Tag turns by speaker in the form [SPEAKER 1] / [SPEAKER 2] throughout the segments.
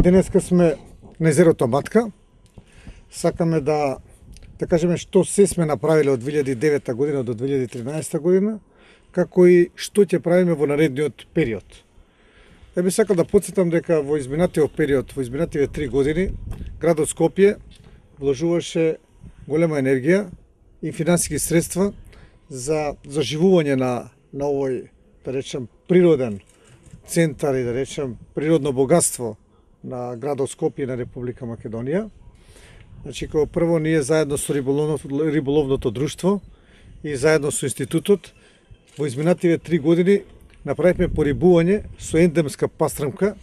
[SPEAKER 1] Денеска сме на езерото Матка. Сакаме да кажеме што се сме направиле од 2009 година до 2013 година, како и што ќе правиме во наредниот период. Ја би сакал да потсетам дека во изминатиот период, во изминативе 3 години, градот Скопје вложуваше голема енергија и финансиски средства за заживување на овој, да речем, природен центар и да речем природно богатство на градот Скопје и на Република Македонија. Значи, како прво, ние заедно со риболовното друштво и заедно со институтот во изминативе 3 години направивме порибување со ендемска пастрмка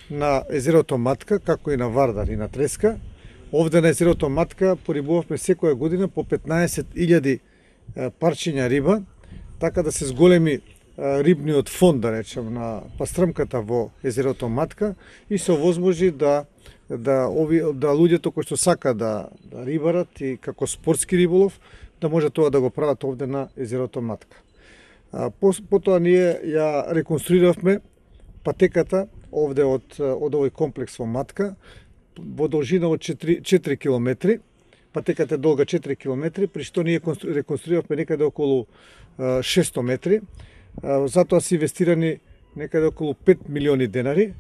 [SPEAKER 1] на езерото Матка, како и на Вардар и на Треска. Овде на езерото Матка порибувавме секоја година по 15.000 парчиња риба, така да се зголеми рибниот фонд, да речем, на пастрмката во езерото Матка и се овозможи да луѓето кои што сака да рибарат и како спортски риболов, да може тоа да го прават овде на езерото Матка. Потоа ние ја реконструиравме патеката овде од овој комплекс во Матка во должина од 4 км. Патеката е долга 4 км, при што ние реконструиравме некаде околу 600 метри. Затоа се инвестирани некаде околу 5 милиони денари,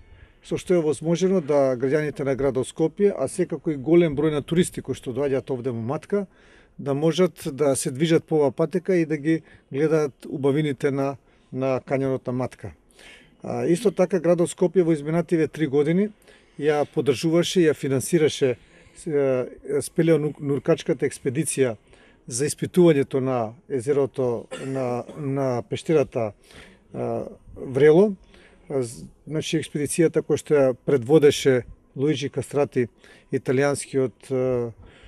[SPEAKER 1] со што е возможено да граѓаните на градот Скопје, а секако и голем број на туристи кои што доаѓаат овде во Матка, да можат да се движат по оваа патека и да ги гледаат убавините на кањонот на Матка. Исто така градот Скопје во изминативе 3 години ја поддржуваше и ја финансираше спелеонуркачката експедиција за испитувањето на езерото, на пештерата Врело. Значи, експедицијата која што ја предводеше Луиджи Кастрати, италијанскиот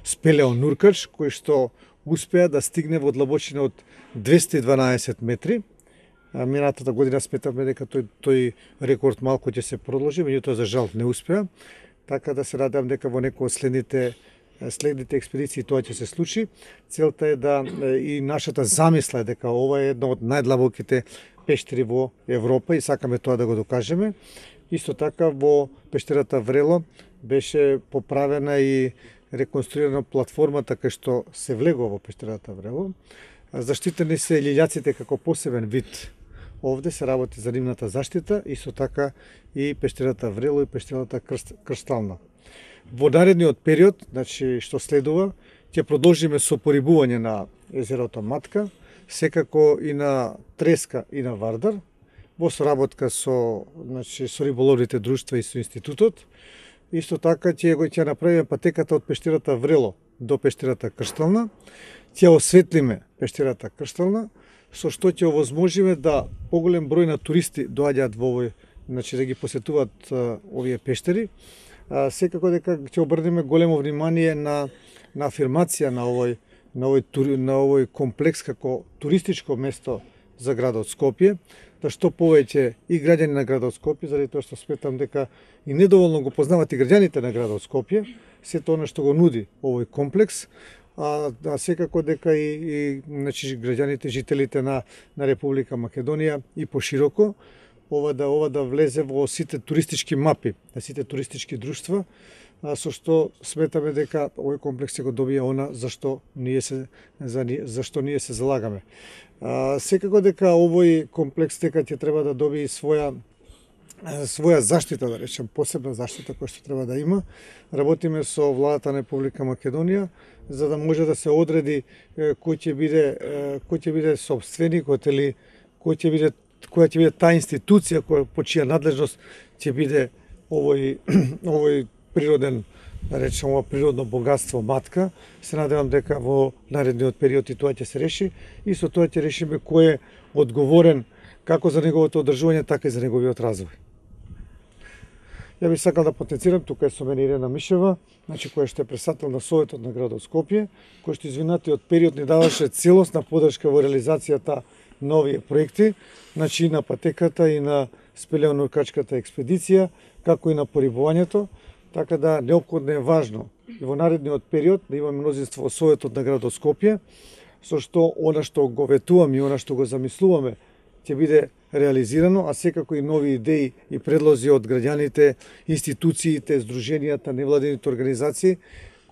[SPEAKER 1] спелеонуркач, кој што успеа да стигне во длабочина од 212 метри. Минатата година сметавме дека тој рекорд малку ќе се продолжи, меѓутоа за жал не успеа. Така да се надевам дека во некој од следните експедиции тоа ќе се случи. Целта е да и нашата замисла е дека ова е една од најдлабоките пештери во Европа и сакаме тоа да го докажеме. Исто така во пештерата Врело беше поправена и реконструирана платформата кај што се влегува во пештерата Врело. Заштитени се лилјаците како посебен вид. Овде се работи за нивната заштита, исто така и пештерата Врело и пештерата Крстална. Во наредниот период, значи што следува, ќе продолжиме со порибување на езерото Матка, секако и на Треска и на Вардар, во соработка со риболовните друштва и со институтот. Исто така ќе направиме патеката од пештерата Врело до пештерата Крстална, ќе осветлиме пештерата Крстална, со што ќе овозможиме да поголем број на туристи доаѓаат во овој, значи да ги посетуваат овие пештери. Секако дека ќе обрнеме големо внимание на афирмација на овој комплекс како туристичко место за градот Скопје, да што повеќе и граѓани на градот Скопје, заради тоа што сметам дека и недоволно го познават и граѓаните на градот Скопје, сето она што го нуди овој комплекс, а секако дека и граѓаните, жителите на Република Македонија и пошироко, ова да влезе во сите туристички мапи, на сите туристички друштва, со што сметаме дека овој комплекс ќе го добие она за што ние се залагаме. Секако дека овој комплекс дека ќе треба да добие своја заштита, да речем, посебна заштита која што треба да има. Работиме со владата на Република Македонија за да може да се одреди кој ќе биде собственикот или која ќе биде таа институција по чија надлежност ќе биде овој природен, да речем, ова природно богатство Матка. Се надевам дека во наредниот период и тоа ќе се реши и со тоа ќе решиме кој е одговорен како за неговото одржување, така и за неговиот развој. Ја би сакал да потенцирам, тука е со мене Ирена Мишева, значи која што е председател на Советот на градот Скопје, кој што изминатиот период ни даваше целосна поддршка во реализацијата на овие проекти, значи и на патеката и на спелеонуркачката експедиција, како и на порибувањето, така да неопходно е важно и во наредниот период да имаме мнозинство во Советот на градот Скопје, со што она што го ветуваме и она што го замислуваме ќе биде реализирано, а секако и нови идеи и предлози од граѓаните, институциите, здруженијата, невладените организации,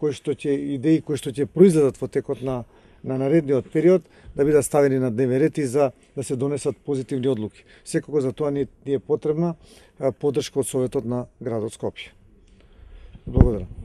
[SPEAKER 1] идеи кои што ќе произлезат во текот на наредниот период, да бидат ставени на дневен ред и за да се донесат позитивни одлуки. Секако за тоа ни е потребна поддршка од Советот на градот Скопје. Благодарам.